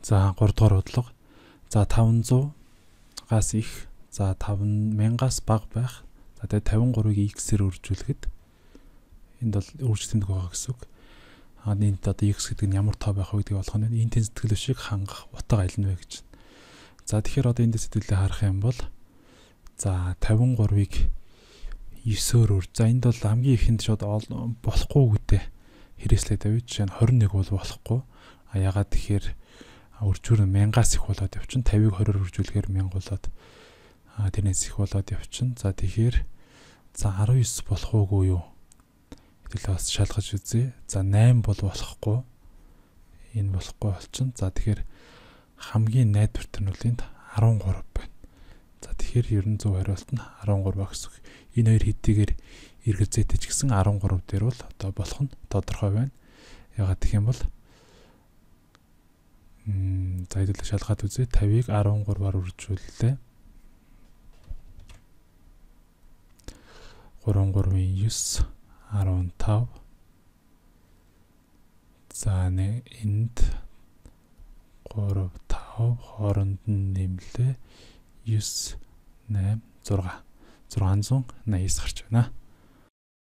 За 3 дугаар бодлого. За 500-аас их, за 5000-аас бага байх. За тэгээд 53-ыг x-ээр үржүүлэхэд энд бол үржил тэмдэг байгаа гэсэн үг. Энд одоо x гэдэг нь ямар тоо байх вэ гэдгийг олох нь энэ тэнцэтгэл өшийг хангах утга аль нь вэ гэж. За тэгэхээр одоо эндээс хэдүүлээ харах юм бол за 53-ыг 9-өөр үрж. За энд бол хамгийн ихэнд шууд болохгүй гэдэг хэрэгслээд байв. Жишээ нь 21 бол болохгүй. Ягаад тэгэхээр үржүүр нь 1000-аас их болоод явчихна. 50-ыг 20-оор үржүүлэхээр 1000 болоод тэрнээс их болоод явчихна. За тэгэхээр за 19 болох уугүй юу? Хэдүүлээ бас шалгаж үзье. За 8 бол болохгүй. Энэ болохгүй болчихно. За тэгэхээр хамгийн найдварт нь бол энд 13 байна. За тэгэхээр ерөн зөв хариулт нь 13 байх гэсэн үг. Энэ хоёр хэдийгээр эргэлзээтэй ч гэсэн 13 дээр бол одоо болох нь тодорхой байна. Ягаад гэх юм бол за хэдүүлээ шалгаад үзье. 50-ыг 13-аар үржүүллээ. 3-3-9 15. За энд 3 5 хооронд нь нэмлээ 9 8 6 680 гарч байна.